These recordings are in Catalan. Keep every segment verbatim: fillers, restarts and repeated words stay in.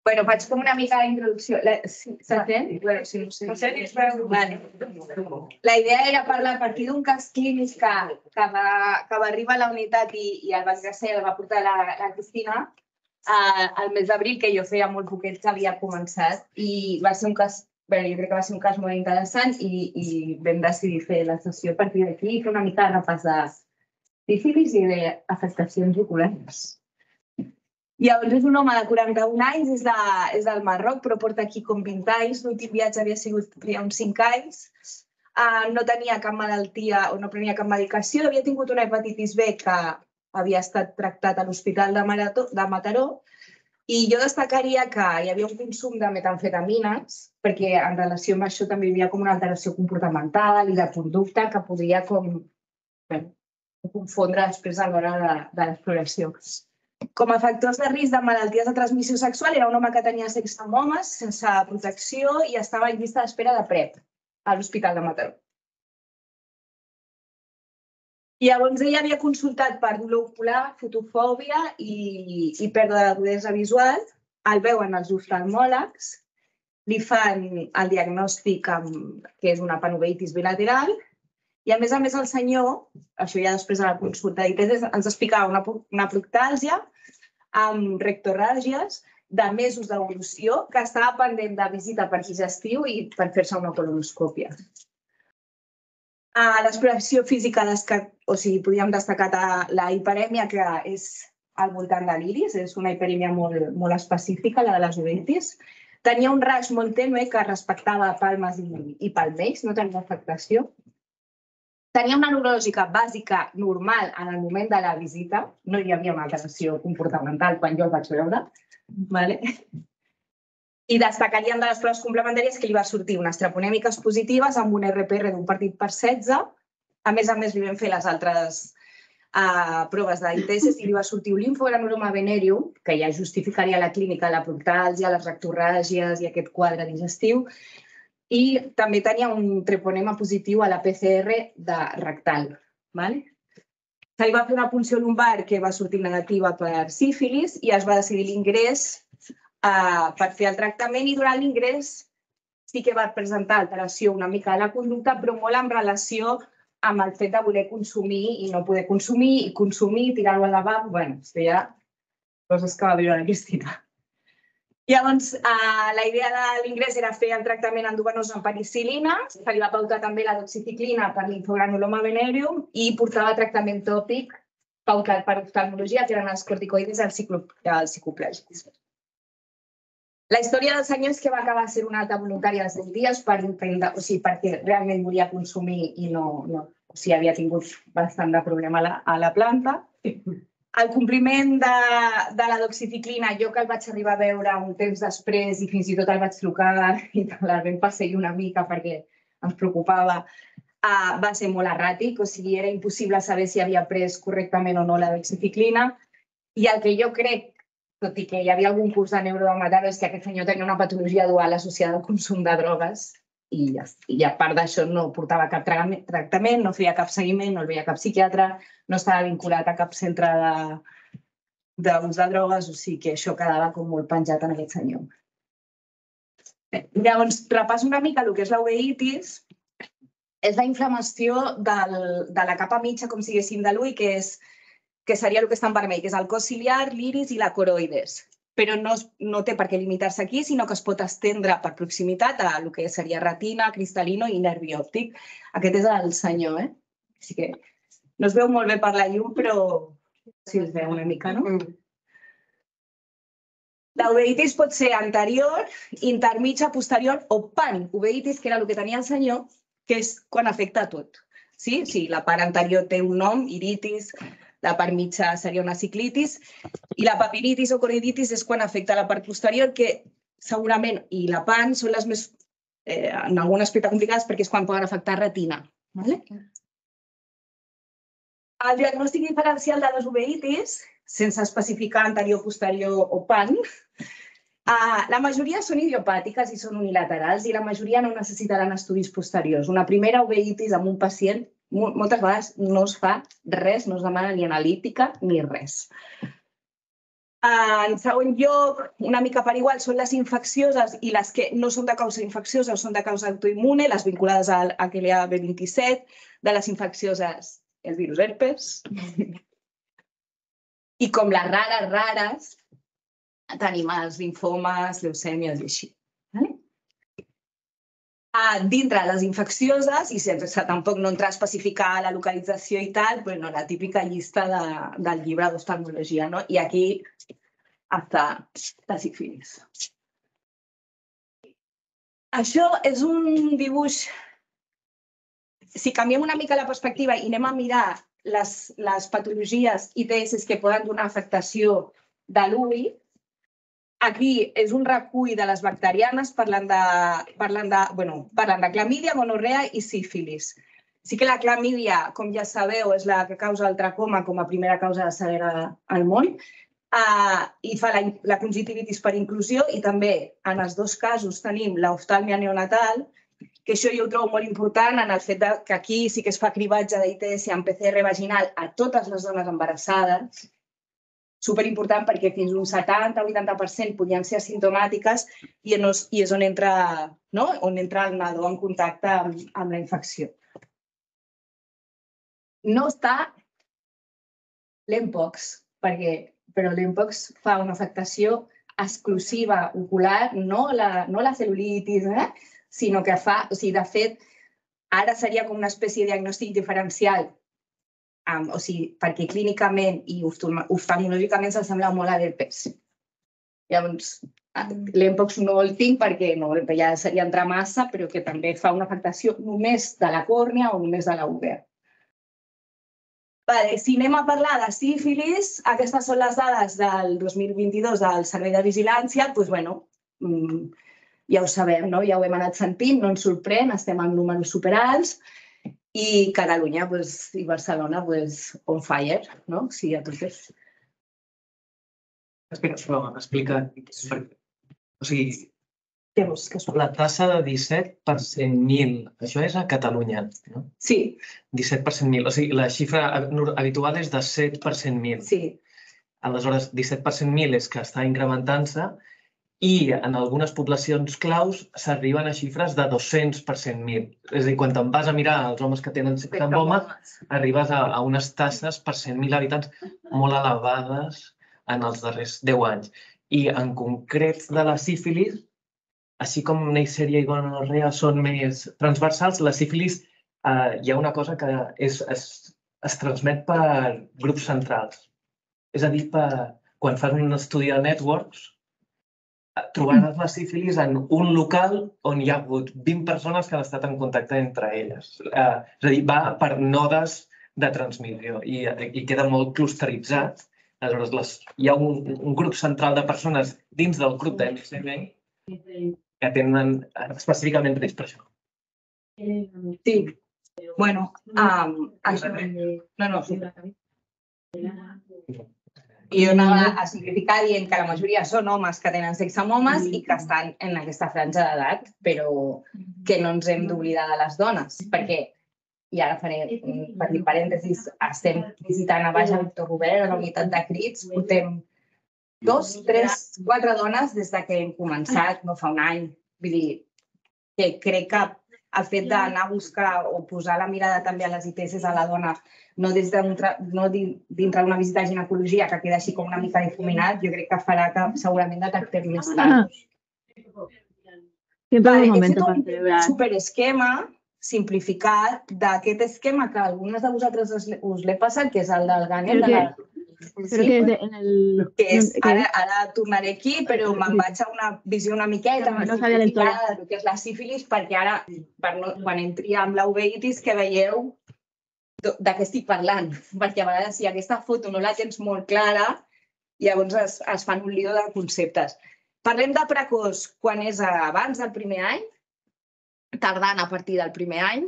Bueno, faig com una mica d'introducció. S'entén? Bueno, si no sé. La idea era parlar a partir d'un cas clínic que va arribar a la unitat i el va ingressar i el va portar la Cristina al mes d'abril, que jo feia molt poquet que havia començat. I va ser un cas, bé, jo crec que va ser un cas molt interessant i vam decidir fer la sessió a partir d'aquí i fer una mica de repàs de sífilis i d'afectacions oculars. Llavors és un home de quaranta-un anys, és del Marroc, però porta aquí com vint anys. L'últim viatge havia sigut feia uns cinc anys. No tenia cap malaltia o no prenia cap medicació. Havia tingut una hepatitis B que havia estat tractat a l'Hospital de Mataró. I jo destacaria que hi havia un consum de metamfetamines, perquè en relació amb això també hi havia com una alteració comportamental i de conducta que podria com confondre després a l'hora de l'exploració. Com a factors de risc de malalties de transmissió sexual, era un home que tenia sexe amb homes, sense protecció, i estava en llista d'espera de PrEP a l'Hospital de Mataró. Llavors, ella havia consultat per dolor ocular, fotofòbia i pèrdua d'agudesa visual. El veuen els oftalmòlegs, li fan el diagnòstic que és una panoveitis bilateral i, a més a més, el senyor, això ja després de la consulta d'I T S, ens explicava una proctàlgia amb rectorràgies de mesos d'evolució que estava pendent de visita per digestiu i per fer-se una colonoscòpia. A l'exploració física, o sigui, podríem destacar la hiperèmia, que és al voltant de l'iris, és una hiperèmia molt específica, la de les uveitis. Tenia un raig molt tènue que respectava palmes i palmells, no tenia afectació. Tenia una neurològica bàsica normal en el moment de la visita, no hi havia una alteració comportamental quan jo el vaig veure. I destacaríem de les proves complementàries que li va sortir unes treponèmiques positives amb un R P R d'un partit per setze. A més a més, li vam fer les altres proves d'I T S i li va sortir un linfogranuloma venèreum, que ja justificaria la clínica, la proctàlgia, les rectorràgies i aquest quadre digestiu. I també tenia un treponema positiu a la P C R de rectal. Se li va fer una punció lumbar que va sortir negativa per sífilis i es va decidir l'ingrés per fer el tractament, i durant l'ingrés sí que va presentar alteració una mica de la conducta, però molt en relació amb el fet de voler consumir i no poder consumir, i consumir, tirar-ho al lavabo. Bé, això ja coses que va viure la Cristina. Llavors, la idea de l'ingrés era fer el tractament endovenós amb penicil·lina, se li va pautar també la doxiciclina per linfogranuloma venèreum i portava tractament tòpic pautat per oftalmologia, que eren els corticoides i els cicloplàgics. La història del senyor és que va acabar sent una alta voluntària als deu dies perquè realment volia consumir i havia tingut bastant de problema a la planta. El compliment de la doxiciclina, jo que el vaig arribar a veure un temps després i fins i tot el vaig trucar i el vam perseguir una mica perquè ens preocupava, va ser molt erràtic, o sigui, era impossible saber si havia pres correctament o no la doxiciclina. I el que jo crec, tot i que hi havia algun curs de neurodermatòleg, és que aquest senyor tenia una patologia dual associada al consum de drogues i a part d'això no portava cap tractament, no feia cap seguiment, no el veia cap psiquiatre, no estava vinculat a cap centre d'ús de drogues, o sigui que això quedava com molt penjat en aquest senyor. Llavors, repasso una mica el que és la uveitis. És la inflamació de la capa mitja, com si diguéssim, de l'ull, que seria el que està en vermell, que és el cos ciliar, l'iris i la coroides. Però no té per què limitar-se aquí, sinó que es pot estendre per proximitat a el que seria retina, cristal·lino i nervi òptic. Aquest és el senyor, eh? Així que no es veu molt bé per la llum, però sí es veu una mica, no? La uveitis pot ser anterior, intermitja, posterior o panuveitis, que era el que tenia el senyor, que és quan afecta a tot. Sí, la part anterior té un nom, iritis, la part mitja seria una ciclitis, i la papilitis o coroiditis és quan afecta la part posterior, que segurament, i la pan, són les més, en algun aspecte complicades, perquè és quan poden afectar retina. El diagnòstic diferencial de les uveitis, sense especificar anterior, posterior o pan, la majoria són idiopàtiques i són unilaterals i la majoria no necessitaran estudis posteriors. Una primera uveitis amb un pacient moltes vegades no es fa res, no es demana ni analítica ni res. En segon lloc, una mica per igual, són les infeccioses i les que no són de causa infecciosa o són de causa autoimmune, les vinculades al H L A B vint-i-set, de les infeccioses, el virus herpes. I com les rares, rares, tenim els linfomes, leucèmies i així. Dintre de les infeccioses, i sense tampoc no entrar a especificar la localització i tal, la típica llista del llibre d'oftalmologia. I aquí està la sífilis. Això és un dibuix... Si canviem una mica la perspectiva i anem a mirar les patologies I T S que poden donar afectació de l'ull, aquí és un recull de les bacterianes parlant de clamídia, gonorrea i sífilis. Sí que la clamídia, com ja sabeu, és la que causa el tracoma com a primera causa de ceguera al món i fa la conjuntivitis per inclusió i també en els dos casos tenim l'oftàlmia neonatal, que això jo ho trobo molt important en el fet que aquí sí que es fa cribatge d'I T S amb P C R vaginal a totes les dones embarassades, superimportant perquè fins a un setanta o vuitanta per cent podien ser asimptomàtiques i és on entra el nadó en contacte amb la infecció. No està l'Mpox, però l'Mpox fa una afectació exclusiva ocular, no la cel·lulitis, sinó que fa, o sigui, de fet, ara seria com una espècie de diagnòstic diferencial, o sigui, perquè clínicament i oftalmològicament s'assembla molt a l'herpes. Llavors, l'Mpox no el tinc perquè ja seria entrar massa, però que també fa una afectació només de la còrnia o només de la uvea. Si anem a parlar de sífilis, aquestes són les dades del dos mil vint-i-dos del Servei de Vigilància, doncs, bueno, ja ho sabem, ja ho hem anat sentint, no ens sorprèn, estem en números superalts i Catalunya i Barcelona on fire, no? Sí, a totes. Explica. O sigui, la tassa de disset per cent mil, això és a Catalunya, no? Sí. disset per cent mil, o sigui, la xifra habitual és de set per cent mil. Sí. Aleshores, disset per cent mil és que està incrementant-se i en algunes poblacions claus s'arriben a xifres de dos-cents per cent mil. És a dir, quan te'n vas a mirar els homes que tenen tramboma, arribes a unes tasses per cent mil habitants molt elevades en els darrers deu anys. I en concret de la sífilis, així com Neisseria i gonorrea són més transversals, la sífilis hi ha una cosa que es transmet per grups centrals. És a dir, quan fas un estudi de networks, trobaràs la sífilis en un local on hi ha hagut vint persones que han estat en contacte entre elles. És a dir, va per nodes de transmissió i queda molt clusteritzat. Aleshores, hi ha un grup central de persones dins del grup de M S M que tenen específicament risc per això. Sí. Bueno, això... No, no, sí. I jo anava a simplificar dient que la majoria són homes que tenen sexe amb homes i que estan en aquesta franja d'edat, però que no ens hem d'oblidar de les dones, perquè, i ara faré un petit parèntesis, estem visitant a baix a Víctor Robert, a la unitat de crits, portem dos, tres, quatre dones des que hem començat, no fa un any. Vull dir, que crec que el fet d'anar a buscar o posar la mirada també a les I T S a la dona, no dintre d'una visita a ginecologia que queda així com una mica difuminat, jo crec que farà que segurament detectem més tard. He fet un superesquema simplificat d'aquest esquema que a algunes de vosaltres us l'he passat, que és el del Ganel. Ara tornaré aquí, però me'n vaig a una visió una miqueta més simplificada del que és la sífilis, perquè ara, quan entri amb la uveitis, que veieu de què estic parlant. Perquè a vegades, si aquesta foto no la tens molt clara, llavors es fan un lío de conceptes. Parlem de precoç quan és abans del primer any, tardant a partir del primer any.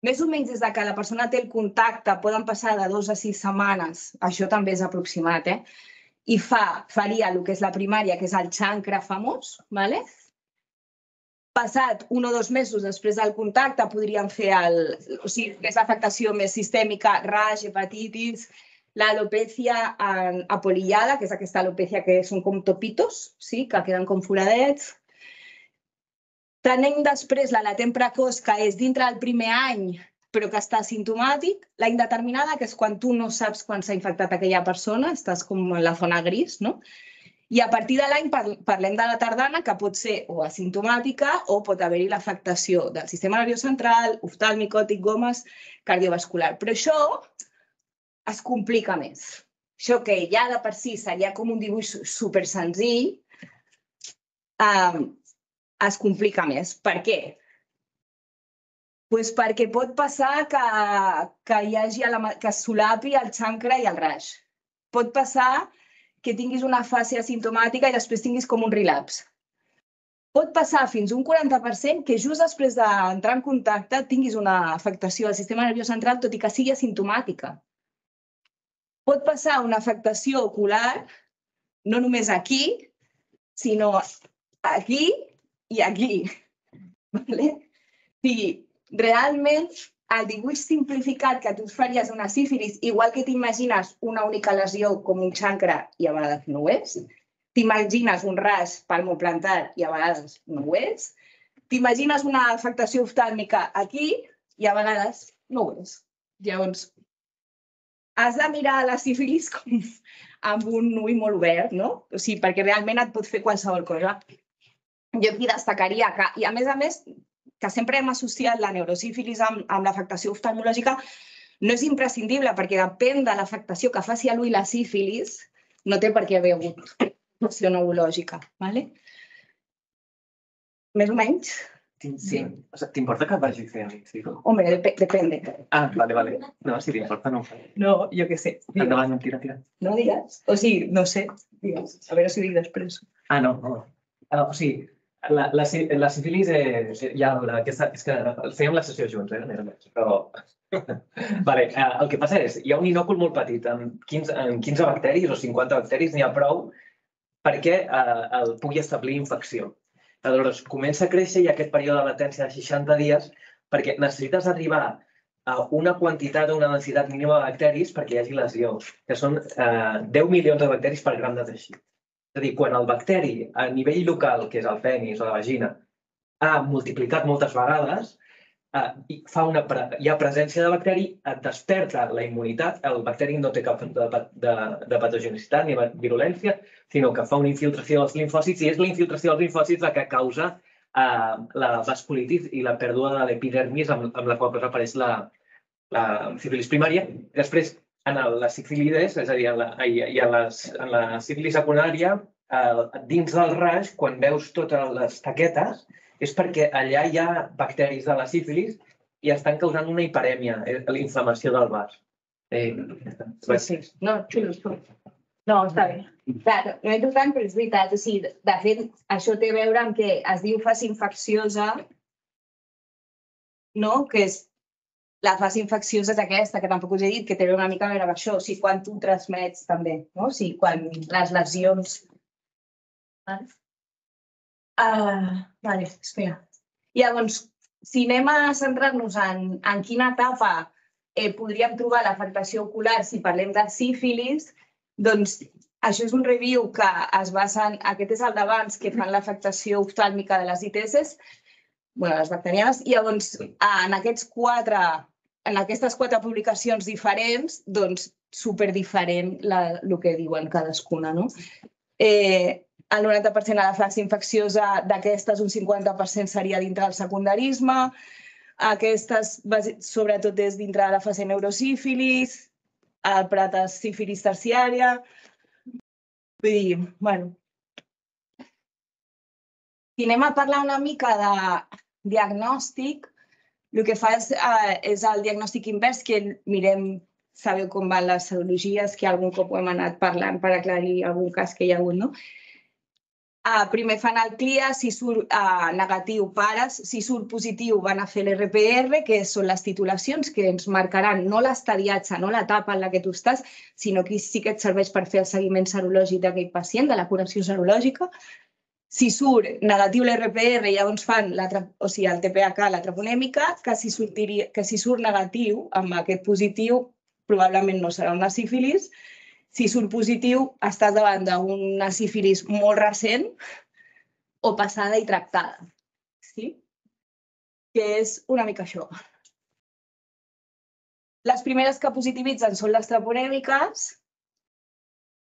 Més o menys des que la persona té el contacte poden passar de dues a sis setmanes, això també és aproximat, i faria el que és la primària, que és el xancre famós. Passat un o dos mesos després del contacte podríem fer l'afectació més sistèmica, raix, hepatitis, l'alopècia apolillada, que és aquesta alopècia que són com topitos, que queden com foradets. Tenim després la latent precoç, que és dintre del primer any, però que està asimptomàtic. La indeterminada, que és quan tu no saps quan s'ha infectat aquella persona, estàs com en la zona gris, no? I a partir de l'any parlem de la tardana, que pot ser o asimptomàtica o pot haver-hi l'afectació del sistema nerviós central, oftàlmic, òptic, gomes, cardiovascular. Però això es complica més. Això que ja de per si seria com un dibuix super senzill, es complica més. Per què? Doncs perquè pot passar que hi hagi que es solapi el xancre i el raix. Pot passar que tinguis una fase asimptomàtica i després tinguis com un relapse. Pot passar fins un quaranta per cent que just després d'entrar en contacte tinguis una afectació del sistema nerviós central, tot i que sigui asimptomàtica. Pot passar una afectació ocular, no només aquí, sinó aquí i aquí. Sí, realment, el dibuix simplificat que tu faries d'una sífilis, igual que t'imagines una única lesió com un xancre i a vegades no ho és, t'imagines un ras palmoplantar i a vegades no ho és, t'imagines una afectació oftàlmica aquí i a vegades no ho és. Llavors, has de mirar la sífilis amb un ull molt obert, no? O sigui, perquè realment et pot fer qualsevol cosa. Jo aquí destacaria que, i a més a més, que sempre hem associat la neurosífilis amb l'afectació oftalmològica, no és imprescindible, perquè depèn de l'afectació que faci a l'ull la sífilis, no té per què haver hagut afectació neurològica. Més o menys? Sí. T'importa que vagi fent? Home, depèn. Ah, vale, vale. No, si t'importa no ho fa. No, jo què sé. Endavant, tira, tira. No digues? O sigui, no sé. Digues. A veure si ho dic després. Ah, no. O sigui, la sífilis ja és que fèiem la sessió junts, eh? Però... El que passa és, hi ha un inòcul molt petit, amb quinze bacteris o cinquanta bacteris, n'hi ha prou perquè el pugui establir infecció. Aleshores, comença a créixer i aquest període de latència de seixanta dies perquè necessites arribar a una quantitat o una densitat mínima de bacteris perquè hi hagi lesió, que són deu milions de bacteris per gram de teixit. És a dir, quan el bacteri a nivell local, que és el penis o la vagina, ha multiplicat moltes vegades, hi ha presència de bacteri, et desperta la immunitat, el bacteri no té cap de patogenicitat ni virulència, sinó que fa una infiltració dels linfòcits i és la infiltració dels linfòcits la que causa la vasculitis i la pèrdua de l'epidermis amb la qual apareix la sífilis primària. Després, en la sífilides, és a dir, en la sífilis secundària, dins del raix, quan veus totes les taquetes, és perquè allà hi ha bacteris de la sífilis i estan causant una hiperèmia, l'inflamació del vas. Sí, sí. No, xulo. No, està bé. No he tocat, però és veritat. De fet, això té a veure amb que es diu fase infecciosa, que és la fase infecciosa és aquesta, que tampoc us he dit, que té una mica a veure amb això, o sigui, quan tu transmets també, o sigui, quan les lesions... Vale, espera. Llavors, si anem a centrar-nos en quina etapa podríem trobar l'afectació ocular si parlem de sífilis, doncs això és un review que es basa en... Aquest és el d'abans, que fan l'afectació oftàlmica de les I T S, les bacterianes, i llavors en aquests quatre, en aquestes quatre publicacions diferents, doncs superdiferent el que diuen cadascuna, no? El noranta per cent de la fase infecciosa d'aquestes, un cinquanta per cent seria dintre del secundarisme. Aquestes, sobretot, és dintre de la fase neurosífilis, el pratasífilis terciària. Vull dir, bueno... Si anem a parlar una mica de diagnòstic, el que fa és el diagnòstic invers, que mirem, sabeu com van les serologies, que algun cop ho hem anat parlant per aclarir algun cas que hi ha hagut, no? Primer fan el CLIA, si surt negatiu pares, si surt positiu van a fer l'R P R, que són les titulacions que ens marcaran no l'estadiatge, no l'etapa en la que tu estàs, sinó que sí que et serveix per fer el seguiment serològic d'aquell pacient, de la curació serològica. Si surt negatiu l'R P R, llavors fan el T P H, la troponèmica, que si surt negatiu amb aquest positiu probablement no serà una sífilis. Si surt positiu, estàs davant d'una sífilis molt recent o passada i tractada. Sí? Que és una mica això. Les primeres que positivitzen són les treponèmiques.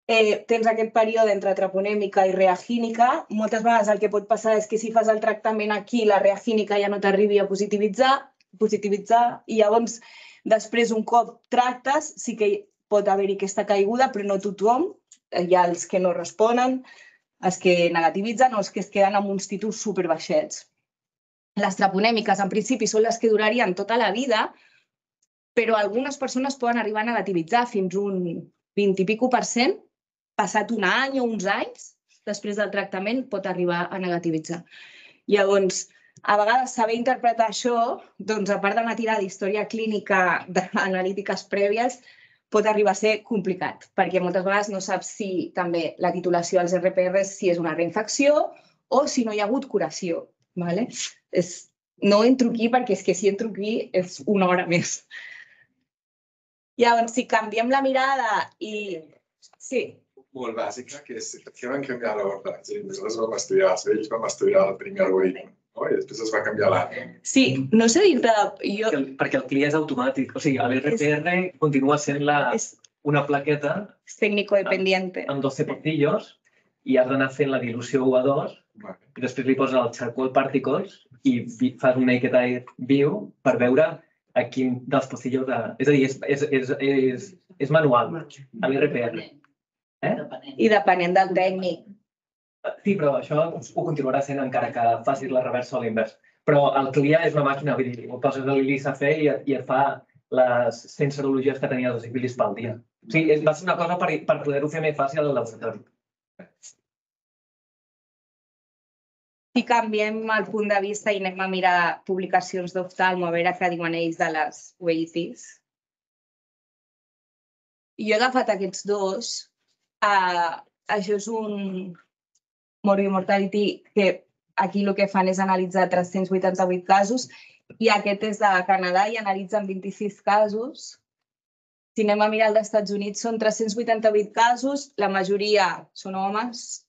Eh, tens aquest període entre treponèmica i reagínica. Moltes vegades el que pot passar és que si fas el tractament aquí, la reagínica ja no t'arribi a positivitzar, positivitzar, i llavors després un cop tractes sí que pot haver-hi aquesta caiguda, però no tothom. Hi ha els que no responen, els que negativitzen o els que es queden amb uns títols superbaixets. Les treponèmiques, en principi, són les que durarien tota la vida, però algunes persones poden arribar a negativitzar fins un vint i pico per cent, passat un any o uns anys, després del tractament pot arribar a negativitzar. Llavors, a vegades saber interpretar això, doncs a part d'una tirada d'història clínica d'analítiques prèvies, pot arribar a ser complicat, perquè moltes vegades no saps si també la titulació als R P Rs si és una reinfecció o si no hi ha hagut curació. No entro aquí perquè és que si entro aquí és una hora més. Llavors, si canviem la mirada i... Sí. Molt bàsica, que és per què van canviar l'ordre. Nosaltres vam estudiar, els vells vam estudiar el primer algoritme, i després es va canviar l'altre. Sí, no sé dir-te... Perquè el C L I és automàtic. O sigui, l'R P R continua sent una plaqueta tècnico-dependiente amb doce portillos i has d'anar fent la dilució u a dos i després li poses el charcoal particles i fas un naked eye view per veure a quin dels portillos... És a dir, és manual, a l'R P R. I depenent del tècnic. Sí, però això ho continuarà sent encara que facis la reversa o l'invers. Però el C L I A és una màquina, vull dir, ho poses a l'I L I S A fer i et fa les cent serologies que tenies de sífilis pel dia. O sigui, va ser una cosa per poder-ho fer més fàcil al laboratori. Si canviem el punt de vista i anem a mirar publicacions d'oftalmo, a veure què diuen ells de les U E I Ts. Jo he agafat aquests dos. Això és un morbid mortality que aquí el que fan és analitzar tres-cents vuitanta-vuit casos i aquest és de Canadà i analitzen vint-i-sis casos. Si anem a mirar els Estats Units són tres-cents vuitanta-vuit casos, la majoria són homes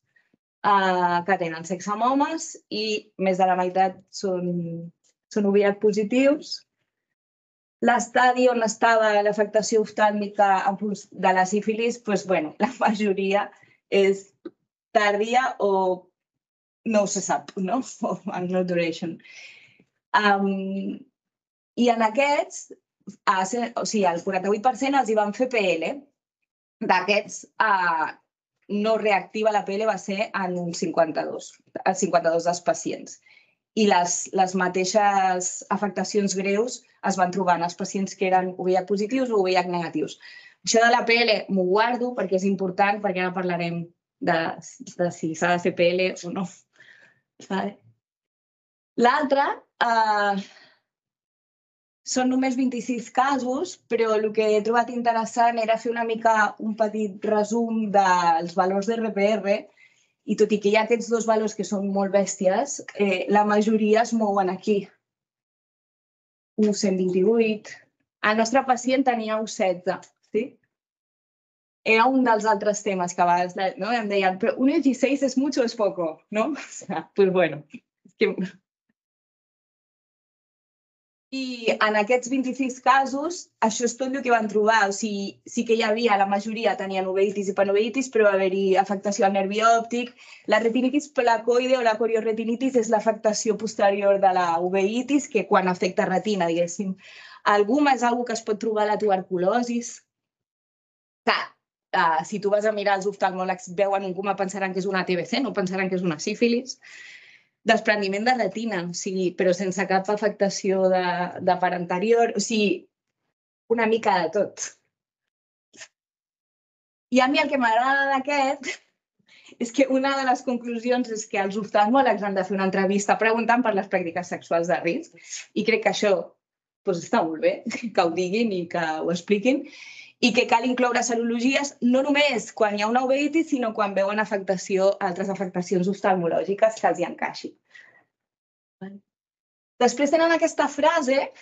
que tenen sexe amb homes i més de la meitat són O V I H positius. L'estadi on estava l'afectació oftàlmica de la sífilis, la majoria és tàrdia o no se sap, no? No duration. I en aquests, o sigui, el quaranta-vuit per cent els hi van fer P L. D'aquests, no reactiva la P L va ser en un cinquanta-dos, el cinquanta-dos dels pacients. I les mateixes afectacions greus es van trobar en els pacients que eren O V I H positius o O V I H negatius. Això de la P L m'ho guardo perquè és important, perquè ara parlarem de si s'ha de fer P L o no. L'altre són només vint-i-sis casos, però el que he trobat interessant era fer una mica un petit resum dels valors d'R P R i tot i que hi ha aquests dos valors que són molt bèsties, la majoria es mouen aquí. un cent vint-i-vuit. El nostre pacient tenia un setze. Era un dels altres temes que a vegades em deien, però un dieciséis és mucho o és poco, no? Pues bueno. I en aquests vint-i-sis casos, això és tot el que van trobar. O sigui, sí que hi havia, la majoria tenien uveitis i panoveitis, però va haver-hi afectació al nervi òptic. La retinitis placoide o la corioretinitis és l'afectació posterior de la uveitis, que quan afecta retina, diguéssim. Alguna és una cosa que es pot trobar a la tuberculosis. Clar, si tu vas a mirar els oftalmòlegs, veuen un coma, pensaran que és una T B C, no pensaran que és una sífilis. Desprendiment de retina, però sense cap afectació de part anterior, o sigui, una mica de tot. I a mi el que m'agrada d'aquest és que una de les conclusions és que els oftalmòlegs han de fer una entrevista preguntant per les pràctiques sexuals de risc i crec que això està molt bé, que ho diguin i que ho expliquin, i que cal incloure serologies no només quan hi ha una uveitis, sinó quan veuen altres afectacions oftalmològiques que els hi encaixi. Després tenen aquesta frase,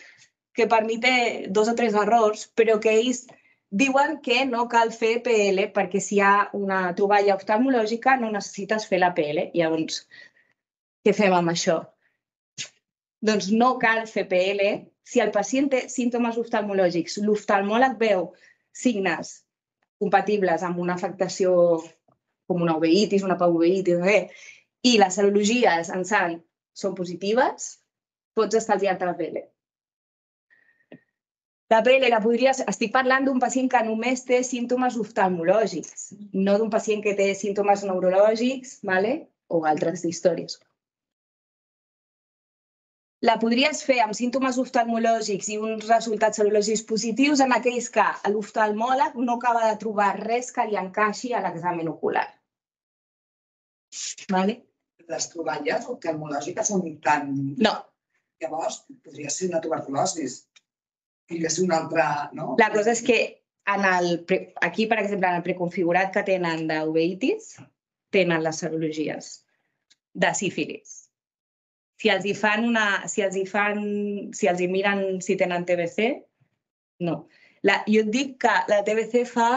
que per mi té dos o tres errors, però que ells diuen que no cal fer P L perquè si hi ha una troballa oftalmològica no necessites fer la P L. Llavors, què fem amb això? Doncs no cal fer P L si el pacient té símptomes oftalmològics, l'oftalmòleg veu signes compatibles amb una afectació com una uveitis, una pauveitis, i les serologies en sang són positives, pots estalviar-te la P L. La P L la podries... Estic parlant d'un pacient que només té símptomes oftalmològics, no d'un pacient que té símptomes neurològics o altres històries. La podries fer amb símptomes oftalmològics i uns resultats serològics positius en aquells que l'oftalmòleg no acaba de trobar res que li encaixi a l'examen ocular. Les troballes oftalmològiques són tan... No. Llavors, podria ser una tuberculosi. Podria ser una altra... La cosa és que aquí, per exemple, en el preconfigurat que tenen d'uveitis, tenen les serologies de sífilis. Si els hi fan una... Si els hi fan... Si els hi miren si tenen T B C, no. Jo et dic que la T B C fa...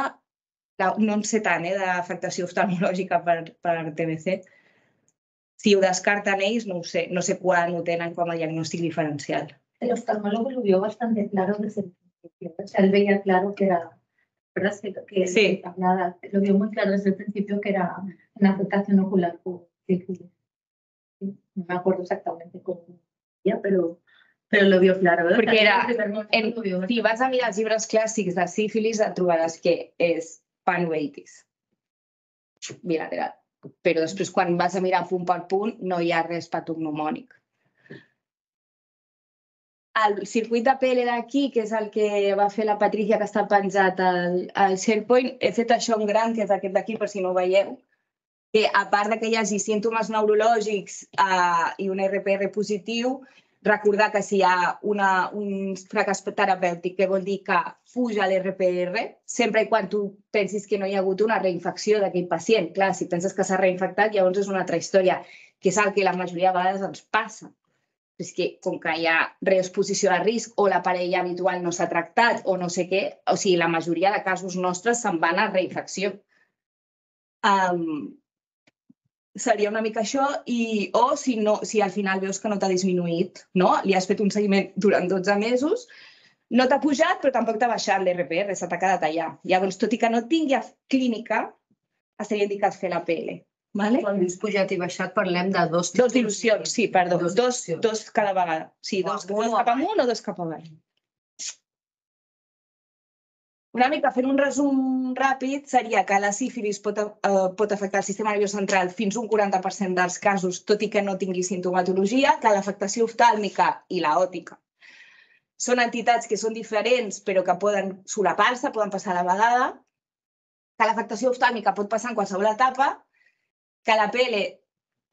No en sé tant, d'afectació oftalmològica per T B C. Si ho descarten ells, no ho sé. No sé quan ho tenen com a diagnòstic diferencial. El oftalmólogo lo vio bastante claro desde el principio. O sea, él veía claro que era... ¿Verdad? Que Sí. Lo vio muy claro desde el principio que era una afectación ocular por sífilis. No me acuerdo exactamente cómo era, pero, pero lo vio claro. ¿verdad? Perquè era, En, en, si vas a mirar els llibres clàssics de sífilis, et trobaràs que és panuveitis bilateral. Però després, quan vas a mirar punt per punt, no hi ha res patognomònic. El circuit de P L d'aquí, que és el que va fer la Patricia, que està penjat al SharePoint, he fet això en gran, que és aquest d'aquí, per si no ho veieu, que a part que hi hagi símptomes neurològics i un R P R positiu, recordar que si hi ha un fracàs terapèutic, que vol dir que fuja l'R P R, sempre i quan tu pensis que no hi ha hagut una reinfecció d'aquell pacient. Clar, si penses que s'ha reinfectat, llavors és una altra història, que és el que la majoria de vegades ens passa. És que com que hi ha reexposició a risc o la parella habitual no s'ha tractat o no sé què, o sigui, la majoria de casos nostres se'n van a reinfecció. Seria una mica això, o si al final veus que no t'ha disminuït, li has fet un seguiment durant dotze mesos, no t'ha pujat però tampoc t'ha baixat l'R P R, se t'ha quedat allà. Llavors, tot i que no tingui clínica, estaria indicat fer la P L. Quan dius pujat i baixat parlem de dos... Dos dilucions, sí, perdó, dos cada vegada. Sí, dos cap amunt o dos cap avall. Una mica, fent un resum ràpid, seria que la sífilis pot afectar el sistema nerviós central fins un quaranta per cent dels casos, tot i que no tingui simptomatologia, que l'afectació oftàlmica i l'òptica són entitats que són diferents però que poden solapar-se, poden passar a la vegada, que l'afectació oftàlmica pot passar en qualsevol etapa, que la P L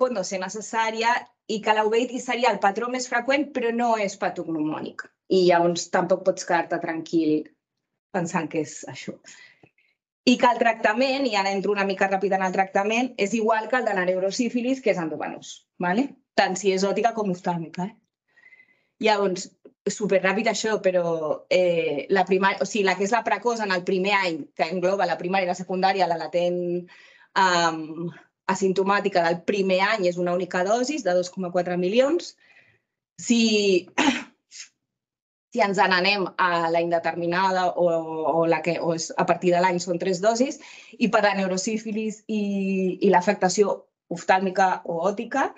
pot no ser necessària i que la uveitis seria el patró més freqüent però no és patognomònic. I llavors tampoc pots quedar-te tranquil pensant que és això. I que el tractament, i ara entro una mica ràpid en el tractament, és igual que el de la neurosífilis, que és endovenós. Tant si és òptica com oftàlmica. Llavors, superràpid això, però la que és la precoç en el primer any, que engloba la primària i la secundària, la latent asimptomàtica del primer any és una única dosis de dos coma quatre milions. Si ens n'anem a la indeterminada o a partir de l'any són tres dosis, i per la neurosífilis i l'afectació oftàlmica o òptica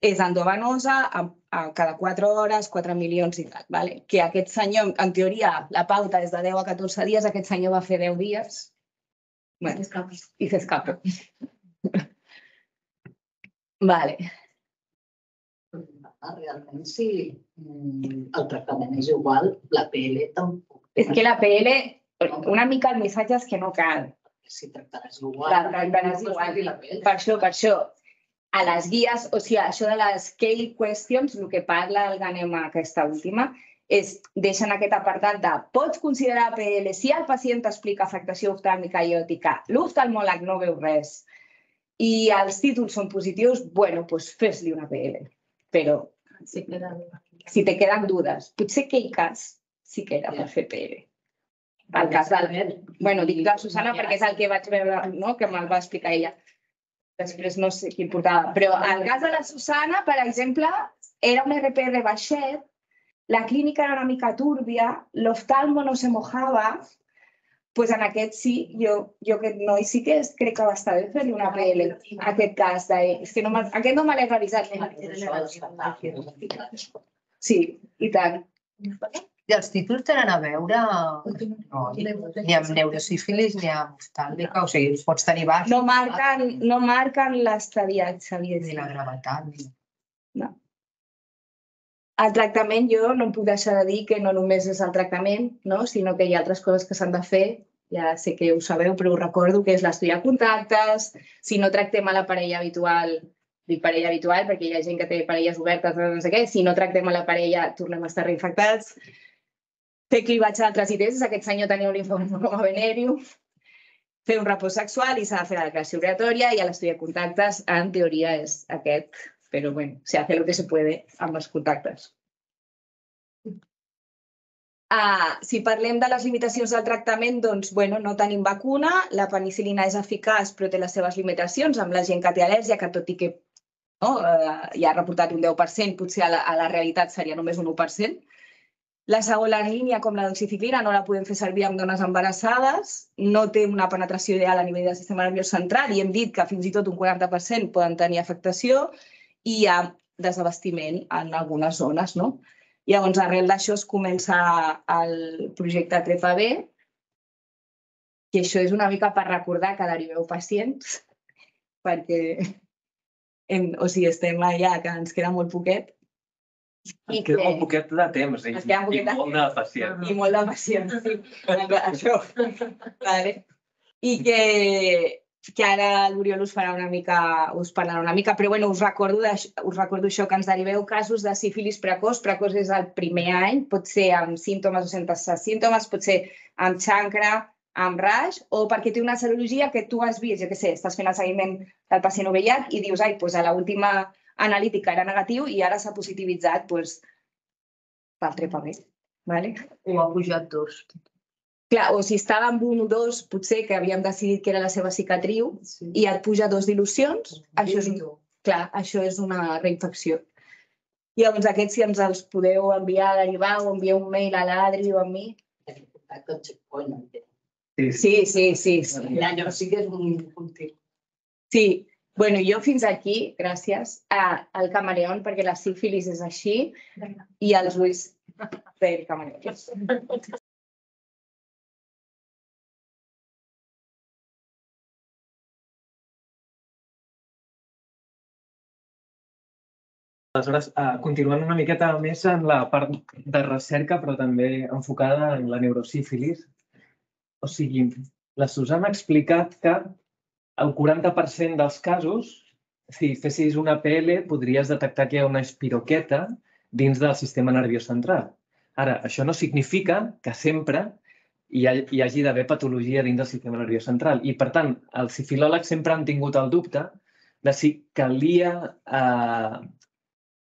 és endovenosa cada quatre hores, quatre milions i tal. Que aquest senyor, en teoria, la pauta és de deu a catorze dies, aquest senyor va fer deu dies i s'escapa. Vale. Realment, si el tractament és igual, la P L tampoc. És que la P L, una mica el missatge és que no cal. Si tractaràs igual. Tractaràs igual. Per això, per això. A les guies, o sigui, això de les scale questions, el que parla el Ganem aquesta última, és deixen aquest apartat de pots considerar P L si el pacient t'explica afectació oftàlmica i òptica, l'oftalmòleg no veu res i els títols són positius, bueno, doncs fes-li una P L. Però si te queden dudes, potser aquell cas sí que era per fer P L. el cas del... Bueno, dic la Susana perquè és el que vaig veure, no?, que me'l va explicar ella. Després no sé qui portava. Però el cas de la Susana, per exemple, era un R P R baixet, la clínica era una mica túrbia, l'oftalmo no se mojava, doncs en aquest sí, jo, jo aquest noi sí que crec que va estar bé fer-li una P L, aquest cas. De, és que no aquest no me l'he revisat. Sí, i tant. I els títols tenen a veure no, ni amb neurosífilis ni amb oftàlmica, o sigui, pots tenir baix. No marquen, no marquen l'estadiatge. Ni la gravetat. Ni... No. El tractament, jo no em puc deixar de dir que no només és el tractament, no? Sinó que hi ha altres coses que s'han de fer. Ja sé que ho sabeu, però ho recordo, que és l'estudiar contactes. Si no tractem a la parella habitual, dic parella habitual perquè hi ha gent que té parelles obertes, no sé què. Si no tractem a la parella, tornem a estar reinfectats. Fer clivatge d'altres I T S, aquest senyor tenia un linfoma com a venèrium. Fer un repòs sexual i s'ha de fer la declaració obligatòria i l'estudiar contactes, en teoria, és aquest. Però, bueno, se hace lo que se puede amb els contactes. Uh, si parlem de les limitacions del tractament, doncs, bueno, no tenim vacuna, la penicil·lina és eficaç però té les seves limitacions amb la gent que té al·lèrgia, que tot i que no, uh, ja ha reportat un deu per cent, potser a la, a la realitat seria només un u per cent. La segona línia, com la doxiciclina, no la podem fer servir amb dones embarassades, no té una penetració ideal a nivell del sistema nerviós central i hem dit que fins i tot un quaranta per cent poden tenir afectació i hi ha desabastiment en algunes zones, no? Llavors, arrel d'això es comença el projecte TREPA-B, que això és una mica per recordar que deriveu pacients, perquè hem, o sigui, estem allà, que ens queda molt poquet. Ens queda molt poquet de temps i, i molt de pacients. I molt de pacients, sí. Això. Vale. I que, que ara l'Oriol us farà una mica, us parlarà una mica, però bueno, us recordo, us recordo això, que ens deriveu casos de sífilis precoç. Precoç és el primer any, pot ser amb símptomes o sense símptomes, pot ser amb xancre, amb raix, o perquè té una serologia que tu has vist, jo què sé, estàs fent el seguiment del pacient O V I H i dius, ai, doncs a l'última analítica era negatiu i ara s'ha positivitzat doncs, pel TREPA-B. Vale? O ha pujat dos. Clar, o si estava amb un o dos, potser que havíem decidit que era la seva cicatriu sí. I et puja dos dilucions, això és, un, clar, això és una reinfecció. Llavors, aquests, si ens els podeu enviar a derivar o enviar un mail a l'Adri o a mi. Sí, sí, sí. sí. Allò sí que és un punti. Sí. Bueno, jo fins aquí, gràcies, al camaleón, perquè la sífilis és així, i els ulls del camaleón. Aleshores, continuant una miqueta més en la part de recerca, però també enfocada en la neurosífilis. O sigui, la Susana ha explicat que el quaranta per cent dels casos, si fessis una P L, podries detectar que hi ha una espiroqueta dins del sistema nerviós central. Ara, això no significa que sempre hi hagi d'haver patologia dins del sistema nerviós central. I, per tant, els sifilòlegs sempre han tingut el dubte de si calia eh,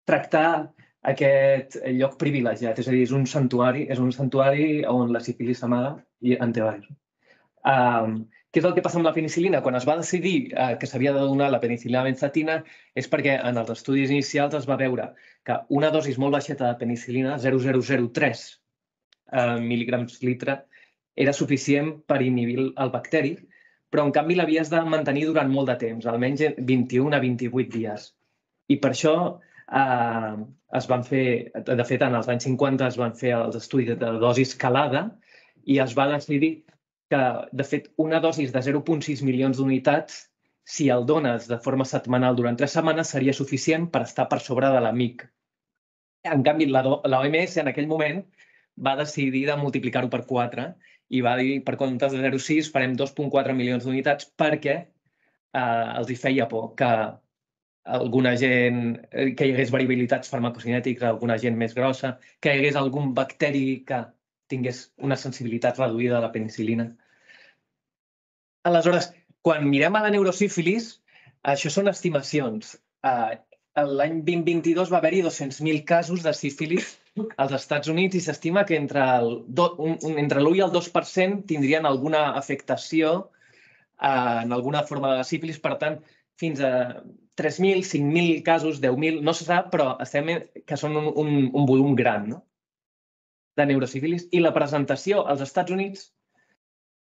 tractar aquest lloc privilegiat. És a dir, és un santuari, és un santuari on la sífilis s'amaga i en té diversos. Um, Què és el que passa amb la penicil·lina? Quan es va decidir eh, que s'havia de donar la penicil·lina benzatina és perquè en els estudis inicials es va veure que una dosi molt baixeta de penicil·lina, zero coma zero zero tres eh, mil·ligrams litre, era suficient per inhibir el bacteri, però en canvi l'havies de mantenir durant molt de temps, almenys vint-i-un a vint-i-vuit dies. I per això eh, es van fer, de fet, en els anys cinquanta es van fer els estudis de dosi escalada i es va decidir que, de fet, una dosi de zero coma sis milions d'unitats, si el dones de forma setmanal durant tres setmanes, seria suficient per estar per sobre de la M I C. En canvi, la O M S en aquell moment va decidir de multiplicar-ho per quatre i va dir, per comptes de zero coma sis, farem dos coma quatre milions d'unitats perquè eh, els hi feia por que alguna gent, que hi hagués variabilitats farmacocinètiques, alguna gent més grossa, que hi hagués algun bacteri que tingués una sensibilitat reduïda a la penicil·lina. Aleshores, quan mirem a la neurosífilis, això són estimacions. L'any vint vint-i-dos va haver-hi dos-cents mil casos de sífilis als Estats Units i s'estima que entre l'u i el dos per cent tindrien alguna afectació en alguna forma de sífilis. Per tant, fins a tres mil, cinc mil casos, deu mil, no se sap, però estem que són un, un, un volum gran, no? De neurosífilis. I la presentació als Estats Units,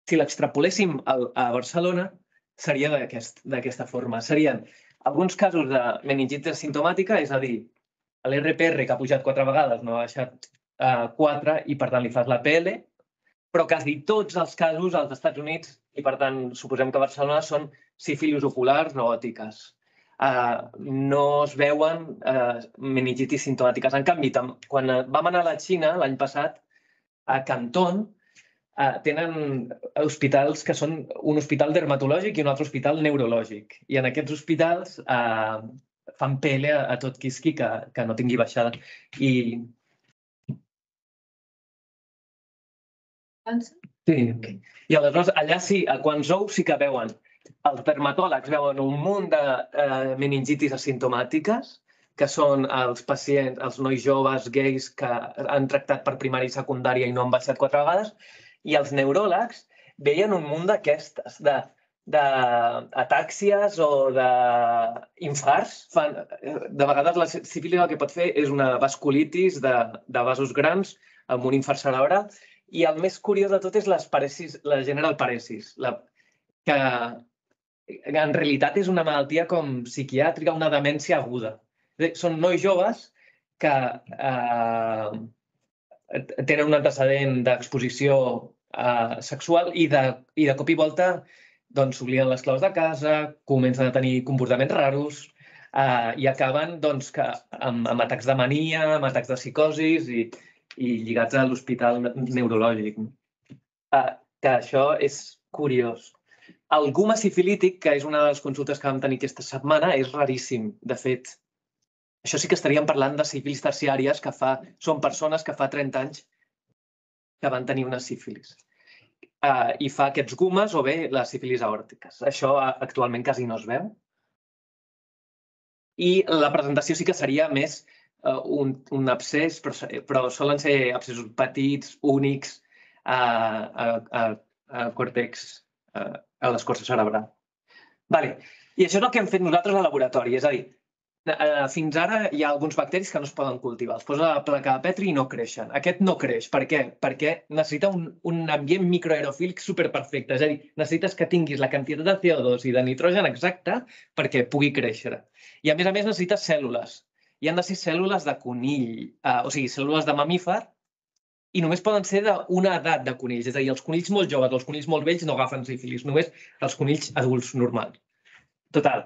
si l'extrapoléssim a Barcelona, seria d'aquesta forma. Serien alguns casos de meningitis asimptomàtica, és a dir, l'R P R que ha pujat quatre vegades no ha baixat quatre i per tant li fas la P L, però quasi tots els casos als Estats Units, i per tant suposem que a Barcelona, són sífilis oculars o òtiques. No es veuen meningitis simptomàtiques. En canvi, quan vam anar a la Xina l'any passat, a Canton, tenen hospitals que són un hospital dermatològic i un altre hospital neurològic. I en aquests hospitals fan P L a tot quisqui que no tingui baixada. I... Sí. I aleshores, allà sí, a Guangzhou sí que veuen. Els dermatòlegs veuen un munt de meningitis asimptomàtiques, que són els pacients, els nois joves, gais, que han tractat per primària i secundària i no han baixat quatre vegades, i els neuròlegs veien un munt d'aquestes, d'atàxies o d'infarts. De vegades la sífilis el que pot fer és una vasculitis de vasos grans amb un infart cerebral. I el més curiós de tot és la general paresis, que en realitat és una malaltia com psiquiàtrica, una demència aguda. Són nois joves que tenen un antecedent d'exposició sexual i de cop i volta s'obliden les claus de casa, comencen a tenir comportaments raros i acaben amb atacs de mania, amb atacs de psicosis i lligats a l'hospital neurològic. Que això és curiós. El guma sifilític, que és una de les consultes que vam tenir aquesta setmana, és raríssim. De fet, això sí que estaríem parlant de sífilis terciàries, que són persones que fa trenta anys que van tenir una sífilis. I fa aquests gumes o bé les sífilis aòrtiques. Això actualment quasi no es veu. I la presentació sí que seria més un abscés, però solen ser abscessos petits, únics, a còrtex, a l'escorça cerebral. I això és el que hem fet nosaltres al laboratori. És a dir, fins ara hi ha alguns bacteris que no es poden cultivar. Els posa a la placa de Petri i no creixen. Aquest no creix. Per què? Perquè necessita un ambient microaerofílic superperfecte. És a dir, necessites que tinguis la quantitat de C O dos i de nitrogen exacta perquè pugui créixer. I a més a més necessites cèl·lules. I han de ser cèl·lules de conill, o sigui, cèl·lules de mamífer, i només poden ser d'una edat de conills. És a dir, els conills molt joves o els conills molt vells no agafen sífilis, només els conills adults normals. Total,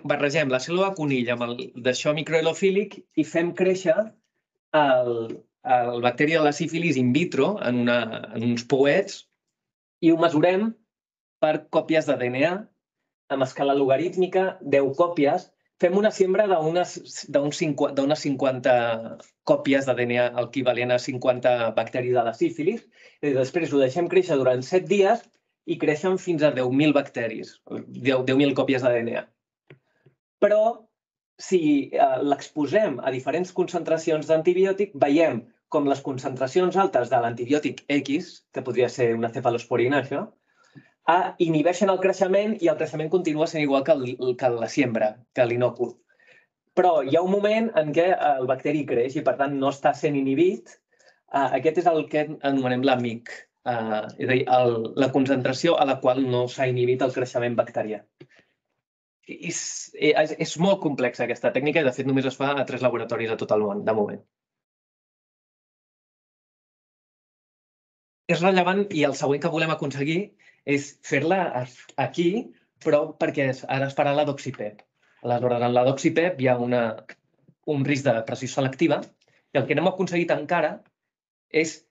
barregem la cèl·lula de conill amb d'això microaerofílic i fem créixer el bacteri de la sífilis in vitro en uns pouets i ho mesurem per còpies de D N A amb escala logarítmica, deu còpies. Fem una siembra d'unes cinquanta còpies de D N A, equivalent a cinquanta bacteris de la sífilis. Després ho deixem créixer durant set dies i creixen fins a deu mil bacteris, deu mil còpies de D N A. Però si l'exposem a diferents concentracions d'antibiòtic, veiem com les concentracions altes de l'antibiòtic X, que podria ser una cefalosporina, això, inhibeixen el creixement i el creixement continua sent igual que la siembra, que l'inòcul. Però hi ha un moment en què el bacteri creix i, per tant, no està sent inhibit. Aquest és el que anomenem l'amic, és a dir, la concentració a la qual no s'ha inhibit el creixement bacterià. És molt complexa aquesta tècnica i, de fet, només es fa a tres laboratoris a tot el món, de moment. És rellevant i el següent que volem aconseguir és fer-la aquí, però perquè ara es farà la doxipep. Aleshores, en la doxipep hi ha un risc de pressió selectiva i el que no hem aconseguit encara és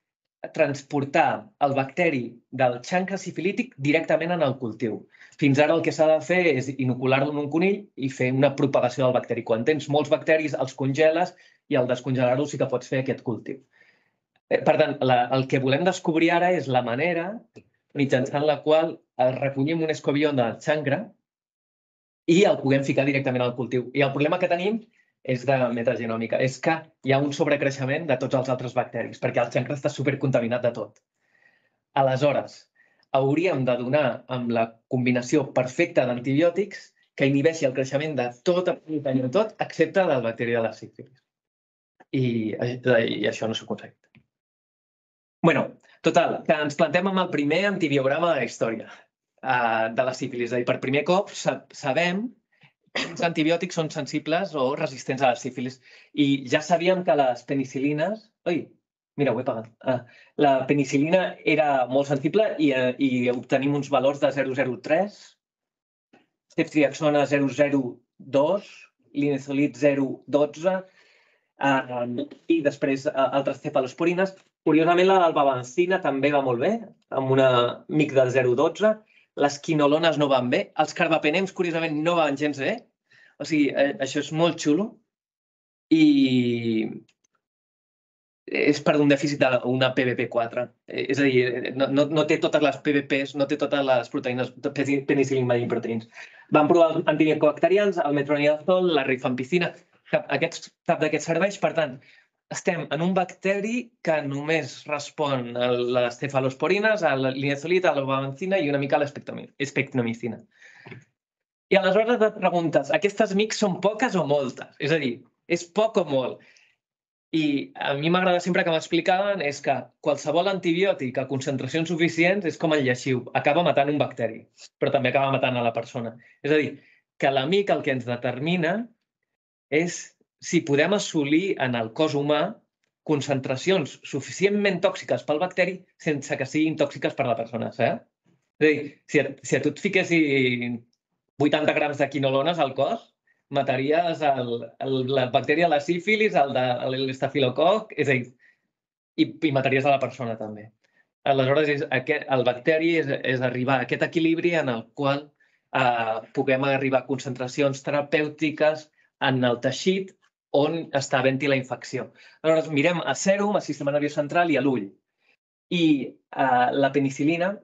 transportar el bacteri del xancre sifilític directament en el cultiu. Fins ara el que s'ha de fer és inocular-lo en un conill i fer una propagació del bacteri. Quan tens molts bacteris, els congeles i al descongelar-ho sí que pots fer aquest cultiu. Per tant, el que volem descobrir ara és la manera mitjançant la qual recollim un escobió del xancre i el puguem ficar directament al cultiu. I el problema que tenim és de metagenòmica, és que hi ha un sobrecreixement de tots els altres bacteris, perquè el xancre està supercontaminat de tot. Aleshores, hauríem de donar amb la combinació perfecta d'antibiòtics que inhibeixi el creixement de tot, de tot, excepte del bacteri de la sífilis. I, i això no s'ha aconseguit. Bueno, total, que ens plantem amb el primer antibiograma de la història uh, de la sífilis. És a dir, per primer cop sabem quins antibiòtics són sensibles o resistents a la sífilis. I ja sabíem que les penicil·lines... Ui, mira, ho he pagat. Ah, la penicil·lina era molt sensible i, i obtenim uns valors de zero coma zero tres, ceftriaxona zero coma zero dos, linezolid zero coma dotze uh, i després uh, altres cefalosporines. Curiosament, la dalbavancina també va molt bé, amb una mic de zero coma dotze. Les quinolones no van bé. Els carbapenems, curiosament, no van gens bé. O sigui, eh, això és molt xulo. I és per un dèficit d'una P V P quatre. Eh, és a dir, no, no, no té totes les P V Ps, no té totes les proteïnes, penicil·lin binding proteins. Van provar els antimicobacterians, el metronidazol, la rifampicina. Cap, aquests, cap d'aquests serveix, per tant, estem en un bacteri que només respon a les cefalosporines, a la linezolid, a la dalbavancina i una mica a l'espectramicina. I aleshores et preguntes, aquestes mics són poques o moltes? És a dir, és poc o molt? I a mi m'agrada sempre que m'explicaven és que qualsevol antibiòtic a concentracions suficients és com el lleixiu, acaba matant un bacteri, però també acaba matant a la persona. És a dir, que l'amic el que ens determina és si podem assolir en el cos humà concentracions suficientment tòxiques pel bacteri sense que siguin tòxiques per a la persona. Eh? És a dir, si a, si a tu et fiquessin vuitanta grams de quinolones al cos, mataries el, el, la bactèria de la sífilis, el de l'estafilococ, és a dir, i, i mataries a la persona també. Aleshores, és, aquest, el bacteri és, és arribar a aquest equilibri en el qual eh, puguem arribar a concentracions terapèutiques en el teixit on està havent-hi la infecció. Aleshores, mirem a sèrum, al sistema nerviós central i a l'ull. I eh, la penicil·lina,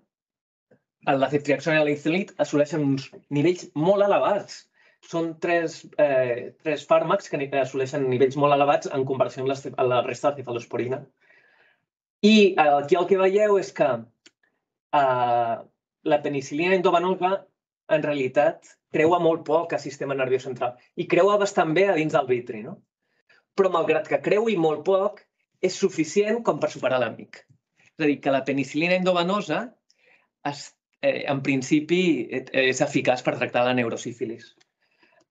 la ceftriaxona i la linezolid assoleixen uns nivells molt elevats. Són tres, eh, tres fàrmacs que assoleixen nivells molt elevats en comparació amb, les, amb la resta de cefalosporina. I eh, aquí el que veieu és que eh, la penicil·lina endovenosa en realitat creua molt poc al sistema nerviós central i creua bastant bé a dins del vitri, no? Però malgrat que creui molt poc, és suficient com per superar l'amic. És a dir, que la penicil·lina endovenosa es, eh, en principi és eficaç per tractar la neurosífilis.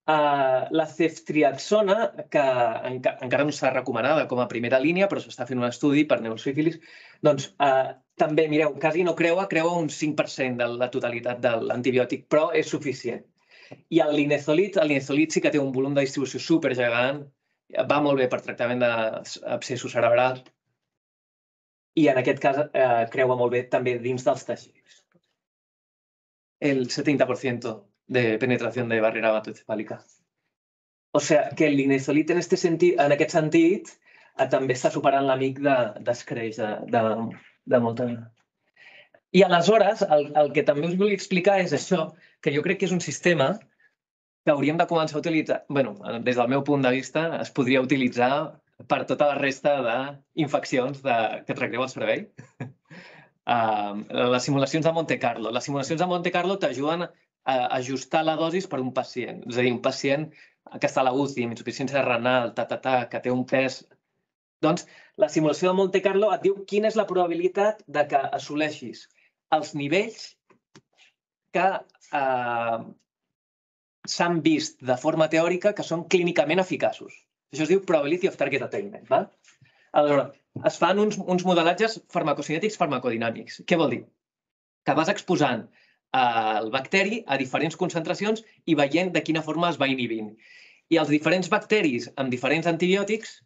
Uh, la ceftriaxona, que enca encara no està recomanada com a primera línia, però s'està fent un estudi per neurosífilis, doncs uh, també, mireu, quasi no creua, creua un cinc per cent de la totalitat de l'antibiòtic, però és suficient. I el linezolid, el linezolid sí que té un volum de distribució supergegant, va molt bé per tractament d'abscessos cerebrals i en aquest cas eh, creua molt bé també dins dels teixits. El setenta per cent de penetración de barrera hematocefálica. O sea, que el linezolid en, este sentit, en aquest sentit eh, també està superant l'amic d'escreix de, de, de, de molta... I aleshores, el, el que també us vull explicar és això, que jo crec que és un sistema que hauríem de començar a utilitzar. Bé, des del meu punt de vista, es podria utilitzar per tota la resta d'infeccions que tracteu al cervell. Uh, les simulacions de Monte Carlo. Les simulacions de Monte Carlo t'ajuden a ajustar la dosis per un pacient. És a dir, un pacient que està a la U C I, amb insuficiència renal, ta, ta, ta, que té un pes... Doncs la simulació de Monte Carlo et diu quina és la probabilitat de que assoleixis els nivells que eh, s'han vist de forma teòrica que són clínicament eficaços. Això es diu probability of target attainment. Va? Aleshores, es fan uns, uns modelatges farmacocinètics farmacodinàmics. Què vol dir? Que vas exposant el bacteri a diferents concentracions i veient de quina forma es va inhibint. I els diferents bacteris amb diferents antibiòtics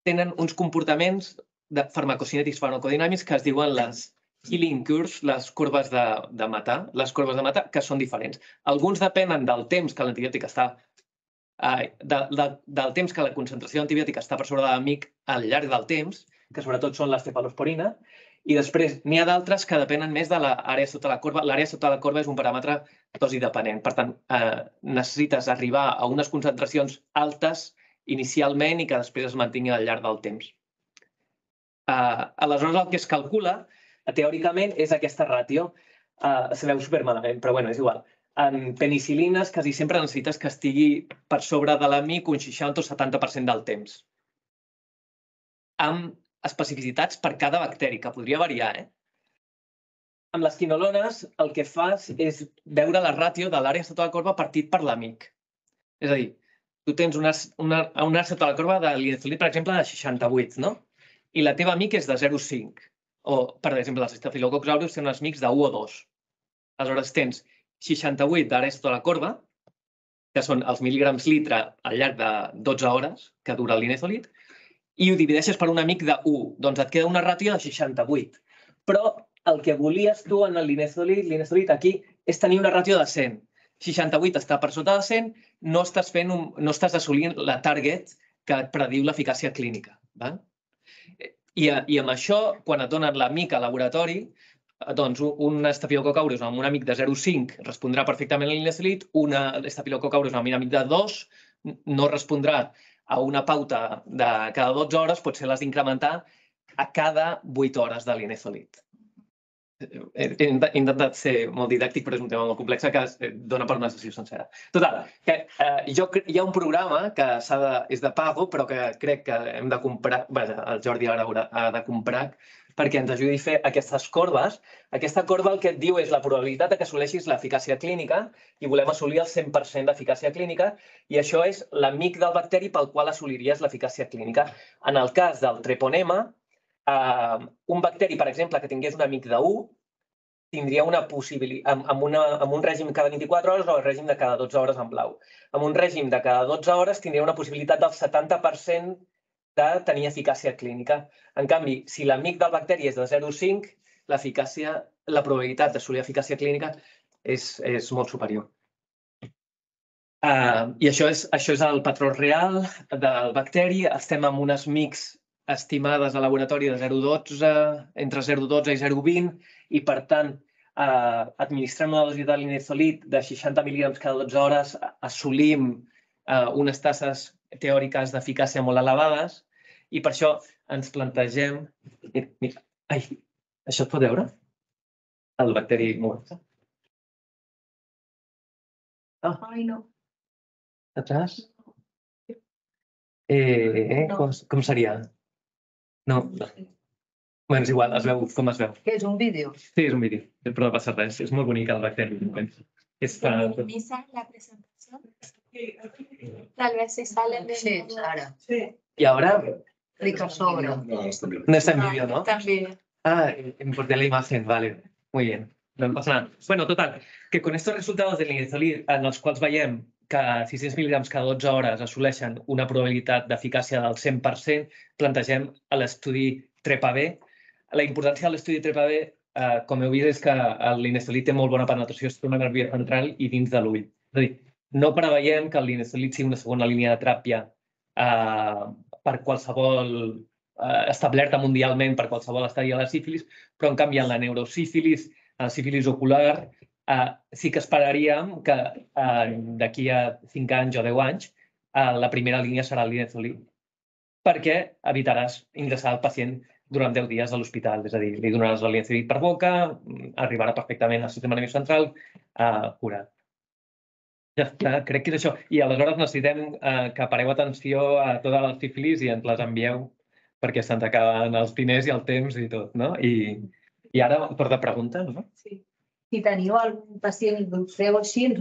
tenen uns comportaments de farmacocinètics farmacodinàmics que es diuen les killing curves, les curves de, de matar, les curves de matar, que són diferents. Alguns depenen del temps que l'antibiòtic està, eh, de, de, del temps que la concentració d'antibiòtic està per sobre de l'amic al llarg del temps, que sobretot són les cefalosporina, i després n'hi ha d'altres que depenen més de l'àrea sota la corba. L'àrea sota la corba és un paràmetre dosi dependent. Per tant, eh, necessites arribar a unes concentracions altes inicialment i que després es mantingui al llarg del temps. Uh, aleshores, el que es calcula, teòricament, és aquesta ràtio. Uh, se veu supermalament, però bueno, és igual. En penicil·lines quasi sempre necessites que estigui per sobre de la mic un seixanta o setanta per cent del temps. Amb especificitats per cada bacteri, que podria variar, eh? Amb les quinolones el que fas és veure la ràtio de l'àrea sota la corba partit per l'amic. És a dir, tu tens una, una, una àrea sota la corba de linezolid, per exemple, de seixanta-vuit, no? I la teva amic és de zero coma cinc. O, per exemple, els estafilococs aureus tenen uns amics de u o dos. Aleshores tens seixanta-vuit d'àrea sota la corba, que són els mil·ligrams litre al llarg de dotze hores que dura el linezolid, i ho divideixes per un amic de u. Doncs et queda una ràtio de seixanta-vuit. Però el que volies tu en el linezolid, linezolid aquí, és tenir una ràtio de cent. seixanta-vuit està per sota de cent, no estàs, fent un, no estàs assolint la target que et prediu l'eficàcia clínica. Val? I, I amb això, quan et donen l'amic al laboratori, doncs un estafilococ aureus amb un amic de zero coma cinc respondrà perfectament a l'inezolid, un estafilococ aureus amb un amic de dos no respondrà a una pauta de cada dotze hores, potser l'has d'incrementar a cada vuit hores de l'inezolid. He intentat ser molt didàctic, però és un tema molt complex que es dona per una sessió sencera. Total, que eh, jo, hi ha un programa que de, és de pago, però que crec que hem de comprar, vaja, el Jordi ara ha de comprar, perquè ens ajudi a fer aquestes corbes. Aquesta corba el que et diu és la probabilitat que assoleixis l'eficàcia clínica i volem assolir el cent per cent d'eficàcia clínica i això és l'amic del bacteri pel qual assoliries l'eficàcia clínica. En el cas del treponema, Uh, un bacteri, per exemple, que tingués un amic de u, tindria una possibilitat, amb, amb, una, amb un règim cada vint-i-quatre hores o el règim de cada dotze hores en blau. Amb un règim de cada dotze hores tindria una possibilitat del setanta per cent de tenir eficàcia clínica. En canvi, si l'amic del bacteri és de zero coma cinc, l'eficàcia, la probabilitat d'assolir eficàcia clínica és, és molt superior. Uh, I això és, això és el patró real del bacteri. Estem amb unes mics estimades a laboratori de zero coma dotze, entre zero coma dotze i zero coma vint, i per tant, eh, administrant una dosi de linezolid de seixanta mil·ligrams cada dotze hores, assolim eh, unes tasses teòriques d'eficàcia molt elevades, i per això ens plantegem... Ai, això es pot veure? El bacteri mort. Ah. Ai, no. Atrás? Eh, com, com seria? No, no. Bé, és igual, es veu com es veu. Què és, un vídeo? Sí, és un vídeo, però no passa res. És molt bonic el bacteri. És fa... Minimiza la presentación. Tal vez si sale de Sí, ara. I ara... Clica sobre. No, no està en vídeo. No está en vídeo, ¿no? Está en vídeo. Ah, importé la imagen, vale. Muy bien. No pasa nada. Bueno, total, que con estos resultados del linezolid, en els quals veiem que sis-cents mil·ligrams cada dotze hores assoleixen una probabilitat d'eficàcia del cent per cent, plantegem l'estudi TREPA-B. La importància de l'estudi TREPA-B, eh, com heu vist, és que el linezolid té molt bona penetració sistema nerviós central i dins de l'ull. És a dir, no preveiem que el linezolid sigui una segona línia de teràpia eh, per qualsevol, eh, establerta mundialment per qualsevol estadi de la sífilis, però en canvi en la neurosífilis, en la sífilis ocular, Uh, sí que esperaríem que uh, d'aquí a cinc anys o deu anys uh, la primera línia serà el linezolid, perquè evitaràs ingressar el pacient durant deu dies a l'hospital. És a dir, li donaràs el linezolid per boca, arribarà perfectament al sistema nerviós central uh, curat. Ja està, crec que és això. I aleshores necessitem uh, que pareu atenció a totes les sífilis i ens les envieu perquè se'ns acaben els diners i el temps i tot, no? I, i ara, per de preguntes, no? Sí. Si teniu algun pacient i dubteu així, ens